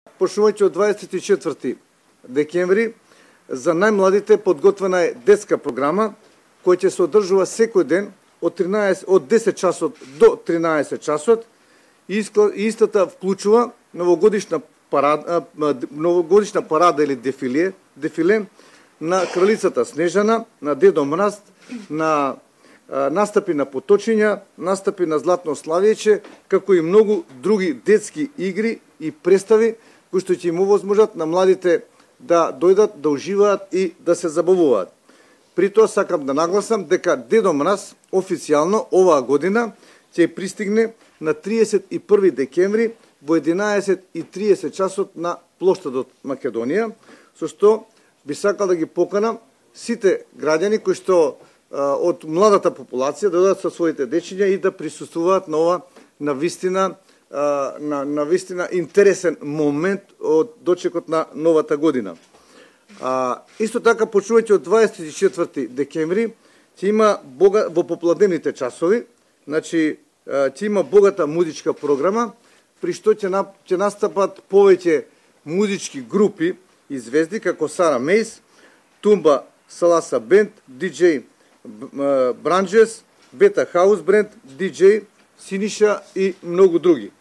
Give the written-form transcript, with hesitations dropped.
Почнувајќи од 24 декември, за најмладите подготвена е детска програма, која ќе се одржува секој ден од 10 часот до 13 часот. Истата вклучува новогодишна парада или дефиле на кралицата Снежана, на Дедо Мраз, на настапи на поточиња, настапи на Златно Славијече, како и многу други детски игри и представи кои што ќе им овозможат на младите да дојдат, да уживаат и да се забавуваат. При тоа сакам да нагласам дека Дедо Мраз официјално оваа година ќе пристигне на 31 декември во 11:30 часот на плоштадот Македонија, со што би сакал да ги поканам сите граѓани кои што од младата популација да дојдат со своите дечиња и да присуствуваат на ова навистина интересен момент од дочекот на новата година. Исто така, почнувајќи од 24 декември, ќе има во попладневните часови, значи ќе има богата музичка програма, при што ќе настапат повеќе музички групи и звезди како Сара Мейс, Тумба Саласа Бенд, диџеј Бранџес, Бета Хаус Бренд, диџеј Синиша и многу други.